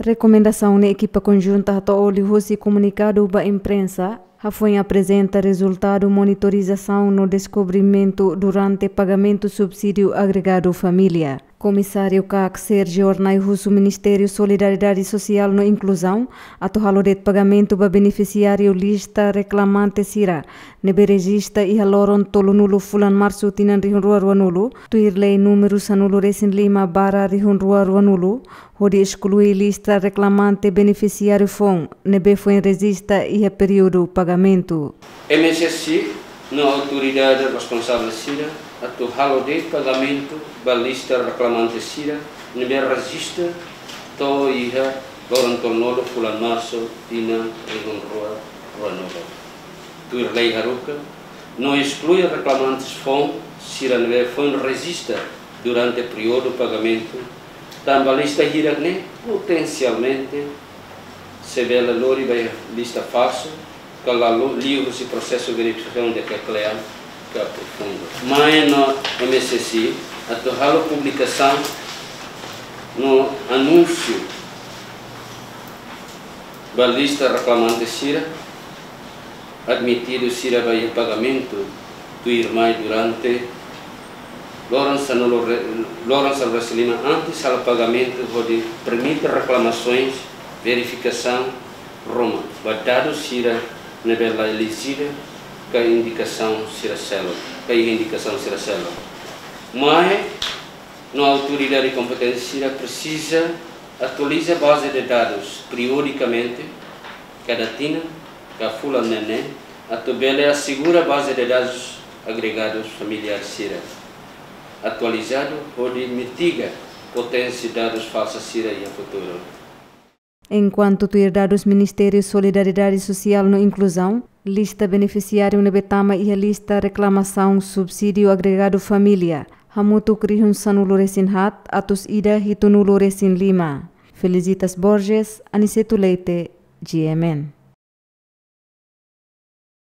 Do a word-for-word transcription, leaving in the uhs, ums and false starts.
Rekomendasaun ne'e ekipa konjunta hato'o liuhusi komunikadu ba imprensa, hafoin aprezenta rezultadu monitorizasaun no deskobrimentu durante pagamentu subsídiu agregadu família. Komisáriu kak Sérgio Ornai husu Ministériu Solidariedade Sosiál no Inkluzaun atu halo de'it pagamentu ba benefisiáriu lista reklamante sira ne'ebé rejista iha loron tolunulu fulan Marsu tinan rihun rua ruanulu, tuir lei númeru sanulu resin lima barra rihun rua ruanulu, hodi esklui lista reklamante benefisiáriu foun ne'ebé foin rejista iha períodu pagamentu. M S S I no autoridade responsavel sira atu halo de'it pagamentu ba lista reklamante sira ne'ebé rejista to'o iha loron tolunulu fulan Marsu tinan rihun rua ruanulu. Tuir lei haruka, no esklui reklamantes foun sira ne'ebé foin rejista durante períodu pagamentu, tanba lista hirak-ne'e potensialmente sei bele lori ba lista falsu, ka la lo-, liuhusi prosesu verifikasaun di'ak ka kle'an ka profundu. Mai no M S S I atu halo publikasaun no anúnsiu ba lista reklamante sira admitidu sira ba iha pagamentu tuirmai durante loron sanulu re-, loron sanulu resin lima antes halo pagamentu hodi permite reklamasoens, verifikasaun ruma ba dadus sira ne'ebé la elejivel ka indikasaun sira seluk, ka iha indikasaun sira seluk. Mai no autoridade kompetente sira presiza atualiza baze de dadus periodikamente, kada tinan ka fulan neineik, atu bele asegura baze de dadus agregadu familiár sira atualizadu hodi mitiga poténsia dadus falsu sira iha futuru. Enkuantu tuir dadus Ministériu Solidariedade Sosiál no Inkluzaun, lista benefisiáriu ne'ebé tama iha lista reklamasaun subsídiu agregadu família hamutuk rihun sanulu resin haat atus ida hitunulu resin lima. Felicitas Borges, Aniceto Leite, G M N.